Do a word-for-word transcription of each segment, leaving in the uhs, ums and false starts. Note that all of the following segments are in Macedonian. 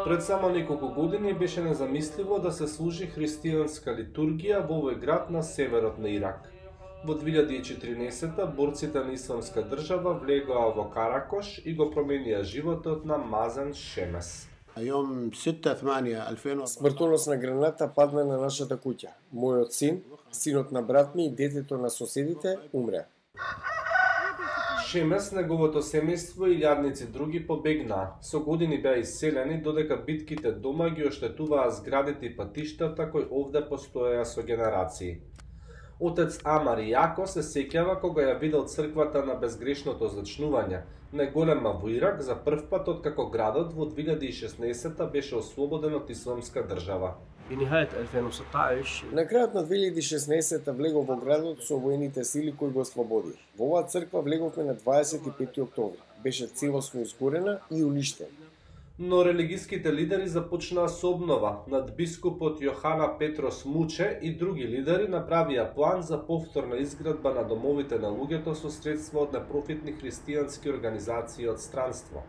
Пред само неколку години беше незамисливо да се служи христијанска литургија во овој град на северот на Ирак. Во две илјади и четринесета борците на Исламска држава влегоа во Каракош и го променија животот на Мазен Шемес. Смртоносна граната падна на нашата куќа. Мојот син, синот на брат ми и детето на соседите умре. Шемес, неговото семејство и илјадници други побегнаа. Со години беа иселени, додека битките дома ги оштетуваа зградите и патиштата кои овде постоеа со генерации. Отец Амар Јако се сеќава кога ја видел црквата на безгрешното зачнување, најголема во Ирак за прв пат откако градот во две илјади и шеснаесета беше ослободен од Исламска држава. На крајот на две илјади и шеснаесета влегов во градот со воените сили кои го ослободија. Во оваа црква влеговме на дваесет и пети октомври. Беше целосно изгорена и уништена. Но религиските лидери започнаа со обнова. Надбискупот Јохана Петрос Муче и други лидери направија план за повторна изградба на домовите на луѓето со средства од непрофитни христијански организации од странство.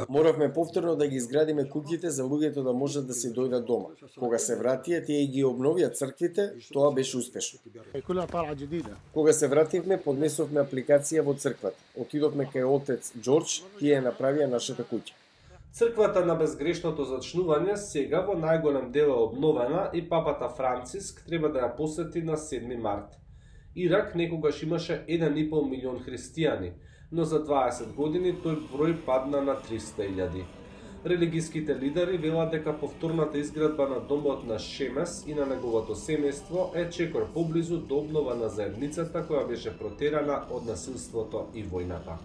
Моравме повторно да ги изградиме куќите за луѓето да можат да си дојдат дома. Кога се вратија, тие ги обновија црквите, тоа беше успешно. Кога се вративме, поднесовме апликација во црквата. Отидовме кај отец Џорџ, тие ја направија нашата куќа. Црквата на безгрешното зачнување сега во најголем дел е обновена и папата Франциск треба да ја посети на седми март. Ирак некогаш имаше еден и пол милион христијани, но за дваесет години тој број падна на триста илјади. Религиските лидери велат дека повторната изградба на домот на Шемес и на неговото семејство е чекор поблизу до обнова на заедницата која беше протерана од насилството и војната.